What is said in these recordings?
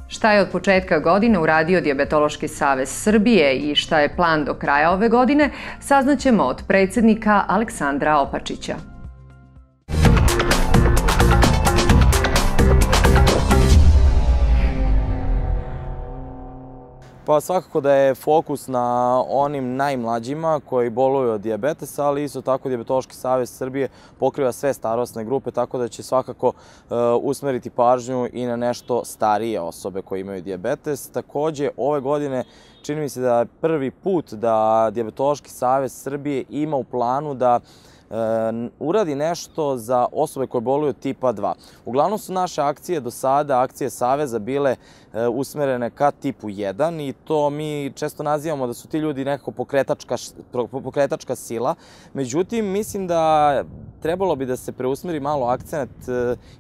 Šta je od početka godine uradio Dijabetološki savez Srbije i šta je plan do kraja ove godine, saznaćemo od predsjednika Aleksandra Opačića. Pa svakako da je fokus na onim najmlađima koji boluju od dijabetesa, ali isto tako Dijabetološki savez Srbije pokriva sve starosne grupe, tako da će svakako usmeriti pažnju i na nešto starije osobe koje imaju dijabetes. Takođe, ove godine čini mi se da je prvi put da Dijabetološki savez Srbije ima u planu da uradi nešto za osobe koje boluju od tipa 2. Uglavnom su naše akcije do sada, akcije Saveza, bile usmerene ka tipu 1 i to mi često nazivamo da su ti ljudi nekako pokretačka sila. Međutim, mislim da trebalo bi da se preusmeri malo akcent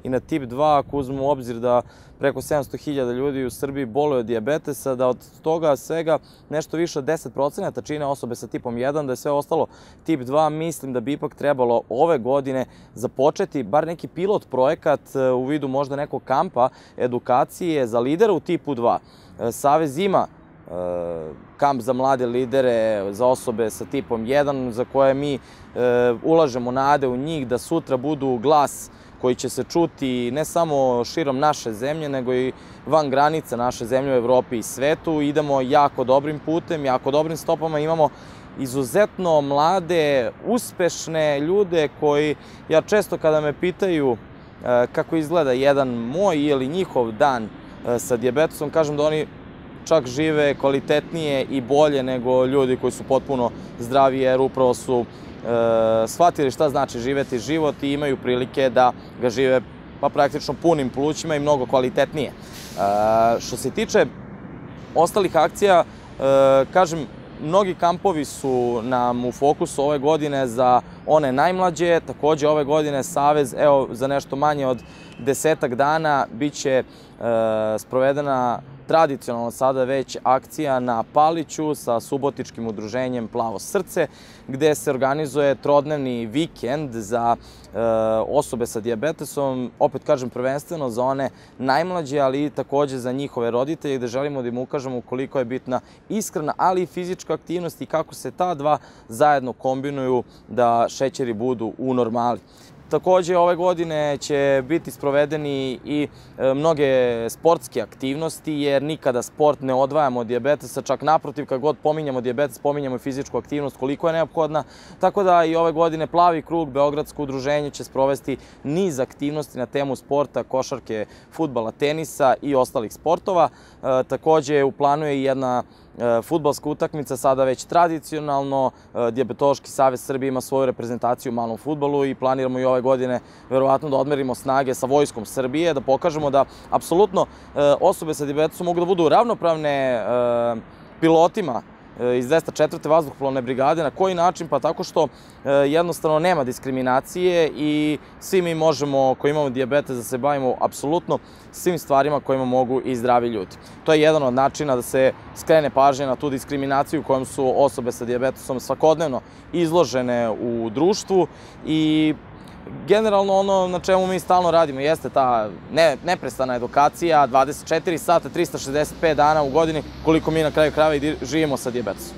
i na tip 2, ako uzmemo u obzir da preko 700.000 ljudi u Srbiji boluje od dijabetesa, da od toga svega nešto više od 10% čine osobe sa tipom 1, da je sve ostalo tip 2. Mislim da bi ipak trebalo ove godine započeti bar neki pilot projekat u vidu možda nekog kampa edukacije za lidera u tipu 2. Savez ima kamp za mlade lidere, za osobe sa tipom 1, za koje mi ulažemo nade u njih da sutra budu glas koji će se čuti ne samo širom naše zemlje, nego i van granica naše zemlje u Evropi i svetu. Idemo jako dobrim putem, jako dobrim stopama, imamo izuzetno mlade, uspešne ljude koji, ja često kada me pitaju kako izgleda jedan moj ili njihov dan sa dijabetesom, kažem da oni čak žive kvalitetnije i bolje nego ljudi koji su potpuno zdravi, jer upravo su shvatili šta znači živeti život i imaju prilike da ga žive pa praktično punim plućima i mnogo kvalitetnije. Što se tiče ostalih akcija, kažem, mnogi kampovi su nam u fokusu ove godine za one najmlađe. Takođe, ove godine Savez, evo, za nešto manje od 10 dana biće sprovedena tradicionalno sada već akcija na Paliću sa subotičkim udruženjem Plavo srce, gde se organizuje trodnevni vikend za osobe sa dijabetesom, opet kažem prvenstveno za one najmlađe, ali i takođe za njihove roditelje, gde želimo da im ukažemo koliko je bitna ishrana, ali i fizička aktivnost i kako se ta dva zajedno kombinuju da šećeri budu u normali. Takođe, ove godine će biti sprovedeni i mnoge sportske aktivnosti, jer nikada sport ne odvajamo od dijabetesa, čak naprotiv, kad god pominjamo dijabetes, pominjamo i fizičku aktivnost koliko je neophodna. Tako da i ove godine Plavi krug, Beogradsko udruženje, će sprovesti niz aktivnosti na temu sporta, košarke, fudbala, tenisa i ostalih sportova. Takođe, u planu je i jedna fudbalska utakmica, sada već tradicionalno. Dijabetološki savez Srbije ima svoju reprezentaciju u malom fudbalu i planiramo i ove godine verovatno da odmerimo snage sa Vojskom Srbije, da pokažemo da apsolutno osobe sa dijabetesom mogu da budu ravnopravne pilotima iz 204. vazduhoplovne brigade. Na koji način? Pa tako što jednostavno nema diskriminacije i svi mi možemo, koji imamo dijabetes, da se bavimo apsolutno svim stvarima kojima mogu i zdravi ljudi. To je jedan od načina da se skrene pažnja na tu diskriminaciju kojom su osobe sa dijabetesom svakodnevno izložene u društvu i generalno ono na čemu mi stalno radimo jeste ta neprestana edukacija, 24 sata, 365 dana u godini, koliko mi na kraju krajeva i živimo sa dijabetesom.